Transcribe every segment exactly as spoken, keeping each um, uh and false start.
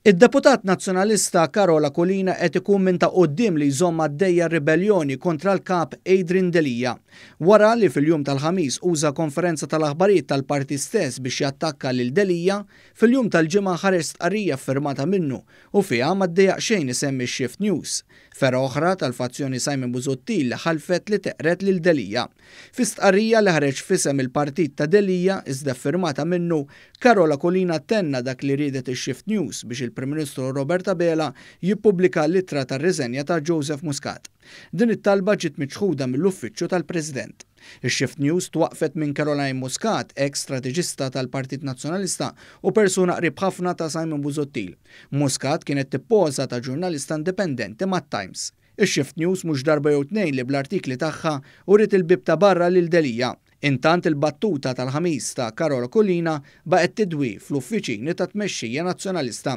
Id-deputat Nazzjonalista Karol Aquilina qed ikun minn ta' quddiem li jżomm għaddejja ribelljoni kontra l-Kap Adrian Delia. Wara li fil-jum tal-Ħamis uża konferenza tal-aħbarijiet tal-partit stess biex jattakka lil Delia, fil-jum tal-Ġimgħa ħareġ stqarrija ffirmata minnu u fiha ma ddejjaq xejn isemmi x-Shift News, fergħa oħra tal-fazzjoni Simon Busuttil li ħalfet li teqred lil Delia. Fi stqarrija li ħareġ f'isem il-partit ta' Delia iżda ffirmata minnu, Karol Aquilina tenna dak li riedet ix-Shift News biex il-Prim Ministru Robert Abela jippubblika l-ittra tar-riżenja ta' Joseph Muscat. Din it-talba ġiet miċħuda mill-Uffiċċju tal-President. Ix-Shift News twaqqfet minn Caroline Muscat, eks strateġista tal-Partit Nazzjonalista u persuna qrib ħafna ta' Simon Busuttil. Muscat kienet tippoża ta' ġurnalista indipendenti mat-Times. Ix-Shift News mhux darba jew tnejn li bl-artikli tagħha uriet il-bieb ta' barra lil Delia. Intant il-battuta tal-Ħamis ta' Karol Aquilina baqgħet tidwi fl-uffiċini tat-tmexxija Nazzjonalista.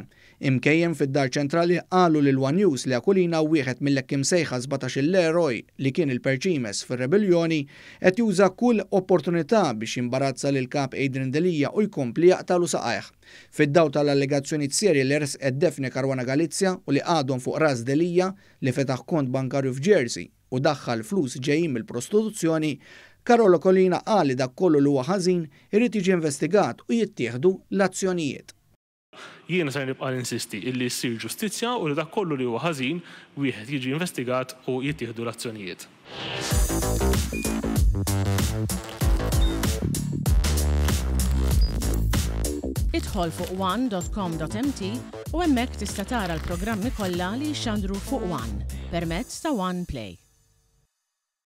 Imkejjen fid-Dar Ċentrali qalu lil one News li Aquilina wieħed mill-hekk imsejħa sbatax-il eroj li kien il-perċimes fir-rebelljoni qed juża kull opportunità biex jimbarazza lill-Kap Adrian Delia u jkompli jaqtagħlu saqajh. Fid-dawl tal-allegazzjonijiet serji li resqet Daphne Caruana Galizia u li għadhom fuq ras Delia li fetaħ kont bankarju f'Jersey u daħħal flus ġejjin mill-prostituzzjoni, Karol Aquilina qal li dak kollu li huwa ħażin irid jiġi investigat u jittieħdu l-azzjonijiet. Jiena ser nibqa' ninsisti illi ssir ġustizzja u li dak kollu li huwa ħażin wieħed jiġi investigat u jittieħdu l-azzjonijiet. Idħol fuq one dot com dot m t u hemmhekk tista' tara l-programmi kollha li jixxandru fuq One permezz ta' One Play.